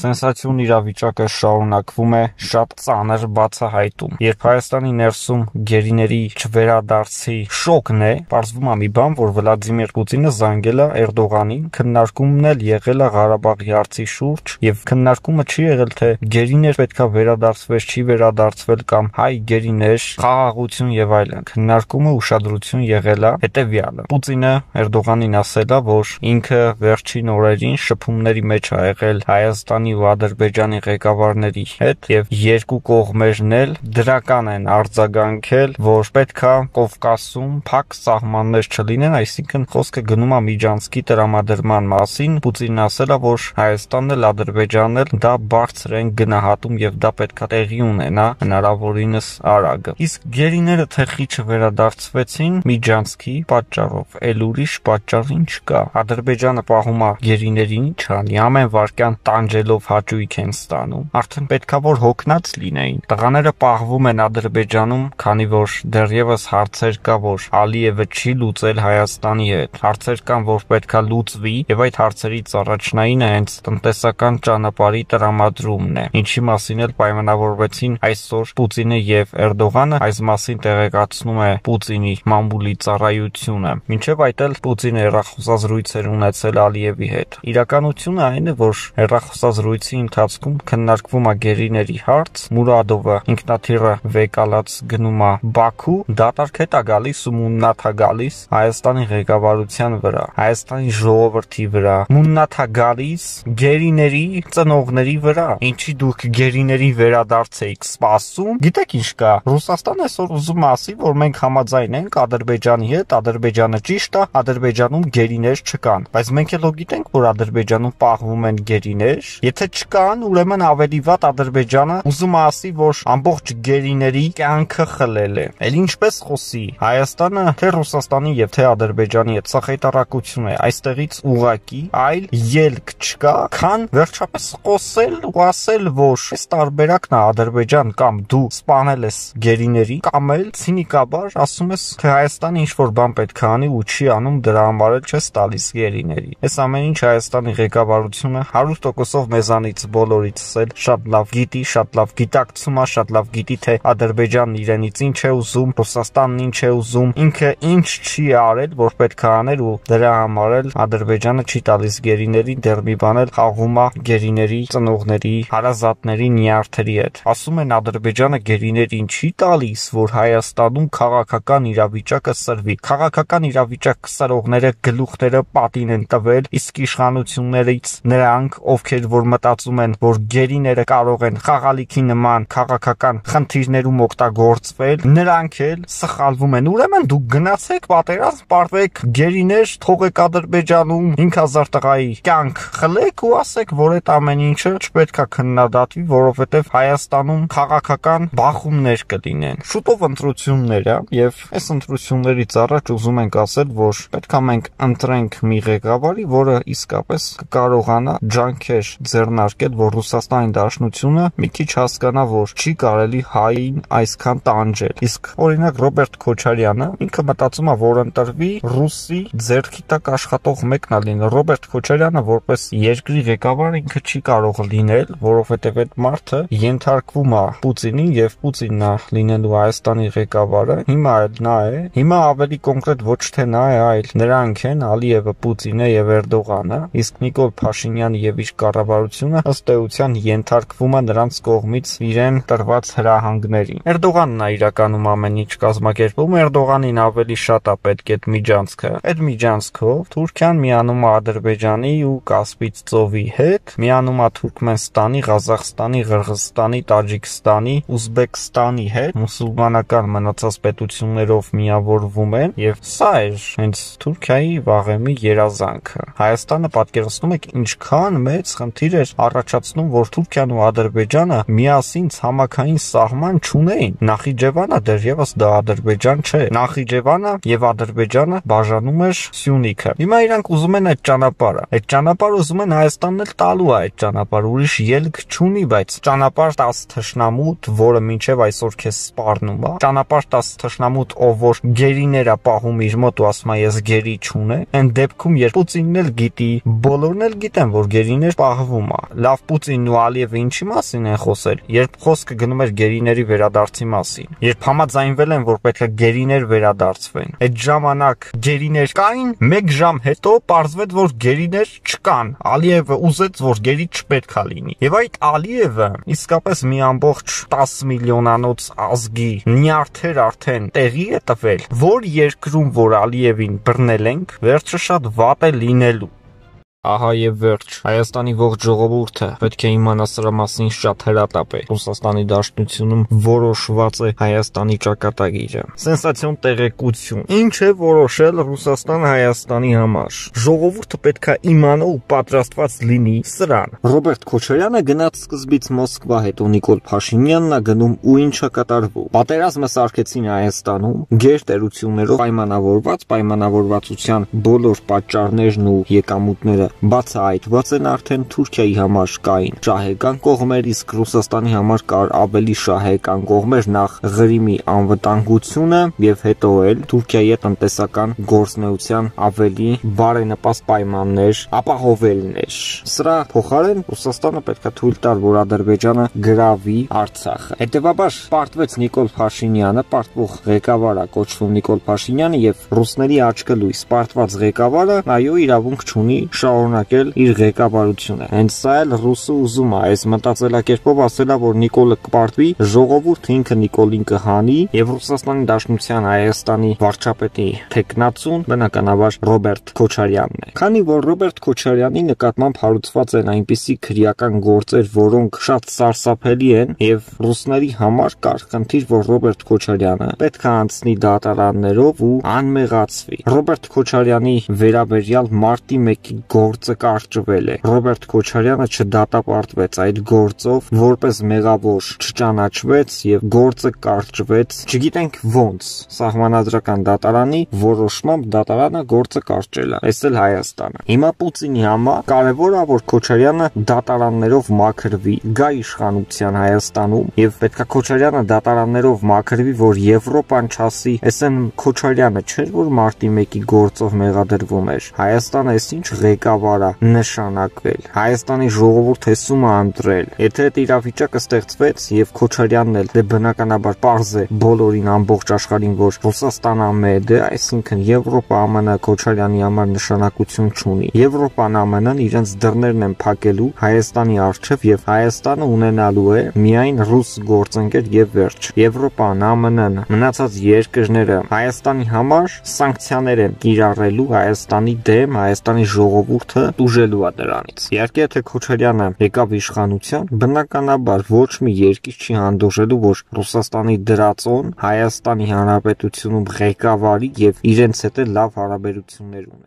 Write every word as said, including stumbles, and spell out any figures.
Սենսացիոն իրավիճակը շարունակվում է շատ ծանր բացահայտում, երբ Հայաստանի ներսում գերիների չվերադարձի շոկն է, պարզվում է մի բան, որ Վլադիմիր Պուտինը զանգել է Էրդողանին, քննարկումն էլ եղել է Ղարաբաղի հարցի շուրջ, եւ քննարկումը չի եղել թե գերիներ պետքա վերադարձվես, չի վերադարձվել կամ հայ գերիներ, խաղաղություն եւ այլն։ Քննարկումը ուշադրություն եղել է հետեւյալը. Պուտինը Էրդողանին ասել է, որ ինքը վերջին օրերին շփումների մեջ ա եղել Հայաստանի ու Ադրբեջանի ղեկավարների հետ եւ երկու կողմերն էլ դրական են արձագանքել, որ պետքա Կովկասում փակ սահմաններ չլինեն, այսինքն խոսքը գնում է Միջանցքի տրամադրման մասին։ Պուտինն ասել է, որ Հայաստանն էլ Ադրբեջանն էլ դա բարձր են գնահատում եւ դա պետքա տեղի ունենա հնարավորինս արագ։ Իսկ գերիները թեխի չվերադարձվեցին Միջանցքի պատճառով, ել ուրիշ պատճառ չկա։ Ադրբեջանը պահում է գերիներին, չանի, ամեն վարքյան տանջելով հաճույք են ստանում։ Արդեն պետքա որ հոգնած լինեին։ Տղաները պահվում են Ադրբեջանում, քանի որ դեռևս հարցեր կա, որ Ալիևը չի լուծել Հայաստանի հետ։ Հարցեր կան, որ պետքա լուծվի, եւ այդ հարցերից առաջնայինը հենց տնտեսական ճանապարհի տրամադրումն է։ Ինչի մասին էլ պայմանավորվեցին այսօր Պուտինը եւ Էրդողանը, այս մասին տեղեկացնում է Պուտինի մամուլի ծառայությունը։ Մինչեւ այդ էլ Պուտինը հեռախոսազրույցեր ունեցել Ալիևի հետ։ Իրականությունը այն է, որ հեռախոսազրույցի ընթացքում քննարկվում է գերիների հարց, Մուրադովը ինքնաթիռը վեկալած գնում է Բաքու, դատարկ հետ է գալիս ու մուննաթ է գալիս Հայաստանի ղեկավարության վրա, Հայաստանի ժողովրդի վրա, մուննաթ է գալիս գերիների ծնողների վրա։ Ինչի դուք գերիների վերադարձ եք սպասում։ Գիտեք ինչ կա, Ռուսաստանը այսօր ուզում է ասի, որ մենք համաձայն ենք Ադրբեջանի հետ, Ադրբեջանը ճիշտ է, Ադրբեջանում գերիներ չկան, բայց մենք էլ գիտենք, որ Ադրբեջանում պահվում են գերիներ։ Եթե չկան, ուրեմն ավելի վատ Ադրբեջանը ուզում է ասի, որ ամբողջ գերիների կյանքը խլել է։ Էլ ինչպես խոսի Հայաստանը թե Ռուսաստանի եւ թե Ադրբեջանի հետ, սա խայտարակություն է, այստեղից ուղակի այլ ելք չկա, քան վերջապես խոսել ու ասել, որ այս տարբերակն է Ադրբեջան կամ դու սպանել ես գերիների, կամ էլ ցինիկաբար ասում ես, թե Հայաստանը ինչ որ բան պետք է անի ու չի անում, դրա համար էլ չես տալիս գերիների։ Այս ամեն ինչ Հայաստանի ղեկավարությունը հարյուր տոկոսով մեզանից բոլորից էլ շատ լավ գիտի, շատ լավ գիտակցում է, շատ լավ գիտի, թե Ադրբեջանն իրենից ինչ է ուզում, Ռուսաստանն ինչ է ուզում, ինքը ինչ չի արել, որ պետք է աներ ու դրա համար էլ Ադրբեջանը չի տալիս գերիներին, դեռ մի բան էլ խաղում է գերիների ծնողների, հարազատների, նյարդերի հետ։ Ասում են Ադրբեջանը գերիներին չի տալիս, որ Հայաստանում քաղաքական իրավիճակը սրվի։ Քաղաքական իրավիճակ սրողները գլուխները պատին են տվել, իսկ իշխանություններից նրանք, ովքեր որ մտածում են, որ գերիները կարող են խաղալիքի նման քաղաքական խնդիրներում օգտագործվել, նրանք էլ սխալվում են։ Ուրեմն դուք գնացեք պատերազմ, պարտվեք գերիներ թողեք Ադրբեջանում, հինգ հազար տղայի կյանք խլեք ու ասեք, որ այդ ամեն ինչը չպետք է քննադատվի, որովհետև Հայաստանում քաղաքական բախումներ կլինեն։ Շուտով ընտրություններ է, եւ այս ընտրություններից առաջ ուզում ենք ասել, որ պետք է մենք ընտրենք մի ղեկավարի, որը իսկապես կկարողանա ջանքեր ձեռնարկել, որ Ռուսաստանի Դաշնությունը մի քիչ հասկանա, որ չի կարելի հային այսքան տանջել։ Իսկ օրինակ Ռոբերտ Քոչարյանը ինքը մտածում է, որ ընտրվի ռուսի ձեռքի տակ աշխատող մեկն է լինի։ Ռոբերտ Քոչարյանը որպես երկրի ղեկավար ինքը չի կարող լինել, որովհետև այդ մարդը ենթարկվում է Պուտինին եւ Պուտինն է լինելու Հայաստանի ղեկավարը։ Հիմա էլ նա է։ Հիմա ավելի կոնկրետ ոչ թե նա է, այլ նրանք են Ալիևը, Պուտինը եւ Էրդողանը, իսկ Նիկոլ Փաշինյանը եւ իր կառավարությունը ըստ էության ենթարկվում է նրանց կողմից իրեն տրված հրահանգներին։ Էրդողանն է իրականում ամեն ինչ կազմակերպում, Էրդողանին ավելի շատ է պետք այդ միջանցքը։ Այդ միջանցքով Թուրքիան միանում է Ադրբեջանի ու Կասպից ծովի հետ, միանում է Թուրքմենստանի, Ղազախստանի, Ղրղզստանի, Տաջիկստանի, Ուզբեկստանի հետ, մուսուլմանական մնացած պետություններով միավորվում են, եւ սա էր հենց Թուրքիայի վաղեմի երազանքը։ Հայաստանը պատկերացնում եք ինչքան մեծ խնդիր էր առաջացնում, որ Թուրքիան ու Ադրբեջանը միասին ցամաքային սահման չունեին։ Նախիջևանը դեռևս դա Ադրբեջան չէ։ Նախիջևանը եւ Ադրբեջանը բաժանում էր Սյունիքը։ Հիմա իրանք ուզում են այդ ճանապարհը։ Այդ ճանապարհը ուզում են Հայաստանն էլ տալու է այդ ճանապարհը, ուրիշ ելք չունի, բայց ճանապարհ տաս թշնամուտ, որը մինչեւ այսօր քեզ սպառնում է։ Ճանապարհ տաս թշնամուտ, ով որ գերիներ է պահում իր մոտ ու ասում է ես գերի չունեմ, այն դեպքում երբ Պուտինն էլ գիտի, բոլորն էլ գիտեն, որ գերիներ պահվում հիմա։ Լավ, Պուտինն ու Ալիևը ինչի մասին են խոսել, երբ խոսքը գնում էր գերիների վերադարձի մասին, երբ համաձայնվել են, որ պետք է գերիներ վերադարձվեն։ Այդ ժամանակ գերիներ կային, մեկ ժամ հետո պարզվեց, որ գերիներ չկան։ Ալիևը ուզեց, որ գերի չպետք է լինի։ Եվ այդ Ալիևը իսկապես մի ամբողջ տասը միլիոնանոց ազգի նյարդեր արդեն տեղի է տվել, որ երկրում, որ Ալիևին բռնել ենք, վերջը շատ վատ է լինելու։ Ահա եւ վերջ, Հայաստանի ողջ ժողովուրդը պետք է իմանա սրա մասին շատ հրատապ է։ Ռուսաստանի Դաշնությունում որոշված է Հայաստանի ճակատագիրը։ Սենսացիոն տեղեկություն։ Ինչ է որոշել Ռուսաստանը Հայաստանի համար։ Ժողովուրդը պետք է իմանա ու պատրաստված լինի սրան։ Ռոբերտ Քոչարյանը գնաց սկզբից Մոսկվա, հետո Նիկոլ Փաշինյանն է գնում ու ինչա կատարվում։ Պատերազմը սարքեցին Հայաստանում, գերտերություններով պայմանավորված, պայմանավորվածության բոլոր պատճառներն ու եկամուտները բացահայտված են արդեն Թուրքիայի համար կային շահեկան կողմեր, իսկ Ռուսաստանի համար կար ավելի շահեկան կողմեր, նախ Ղրիմի անվտանգությունը եւ հետո էլ Թուրքիայի տնտեսական գործունեության ավելի բարենպաստ պայմաններ ապահովելն էր։ Սրա փոխարեն Ռուսաստանը պետք է թույլ տար, որ Ադրբեջանը գրավի Արցախը։ Հետևաբար պարտվեց Նիկոլ Փաշինյանը, պարտվող ղեկավարը կոչվում Նիկոլ Փաշինյանը եւ ռուսների աչքը լույս պարտված ղեկավարը, այո, իրավունք չունի շարունակել իր ղեկավարությունը։ Հենց սա էլ ռուսը ուզում է, այս մտածելակերպով ասելա, որ Նիկոլը կպարտվի, ժողովուրդը ինքը Նիկոլին կհանի եւ Ռուսաստանի Դաշնության Հայաստանի վարչապետի տեխնացուն բնականաբար Ռոբերտ Քոչարյանն է։ Քանի որ Ռոբերտ Քոչարյանի նկատմամբ հարուցված են այնպիսի քրեական գործեր, որոնք շատ սարսափելի են եւ ռուսների համար կար խնդիր, որ Ռոբերտ Քոչարյանը պետք է անցնի դատարաններով ու անմեղացվի։ Ռոբերտ Քոչարյանի վերաբերյալ մարտի մեկի գործը կարճվել է։ Ռոբերտ Քոչարյանը չդատապարտվեց այդ գործով, որպես մեղավոր չճանաչվեց եւ գործը կարճվեց, չգիտենք ոնց։ Սահմանադրական դատարանի որոշմամբ դատարանը գործը կարճել է։ Այս էլ Հայաստանը։ Հիմա Պուտինի համար կարևոր է, որ Քոչարյանը դատարաններով մաքրվի, գա իշխանության Հայաստանում եւ պետքա Քոչարյանը դատարաններով մաքրվի, որ Եվրոպան չասի, այսեն Քոչարյանը չէր, որ մարտի մեկի գործով մեղադրվում էր։ Հայաստանը այս ինչ ղեկավար է նշանակվել։ Հայաստանի ժողովուրդը հեսում է ընտրել։ Եթե այդ իրավիճակը ստեղծվեց եւ Քոչարյանն էլ դե բնականաբար պարզ է բոլորին ամբողջ աշխարհին, որ Ռուսաստանը մեծ է, այսինքն Եվրոպա ԱՄՆ Քոչարյանի համար նշանակություն չունի։ Եվրոպան ԱՄՆ-ն իրենց դռներն են փակելու Հայաստանի առջև եւ Հայաստանը ունենալու է միայն ռուս գործընկեր եւ վերջ։ Եվրոպան, ԱՄՆ-ն, մնացած երկրները Հայաստանի համար սանկցիաներ են կիրառելու Հայաստանի դեմ, Հայաստանի ժողովուրդը տուժելու է դրանից։ Իհարկե, եթե Քոչարյանը եկավ իշխանության, բնականաբար ոչ մի երկիր չի հանդուրժելու, որ Ռուսաստանի դրածոն Հայաստանի Հանրապետությունում ղեկավարի եւ իրենց հետ լավ հարաբերություններ ունի։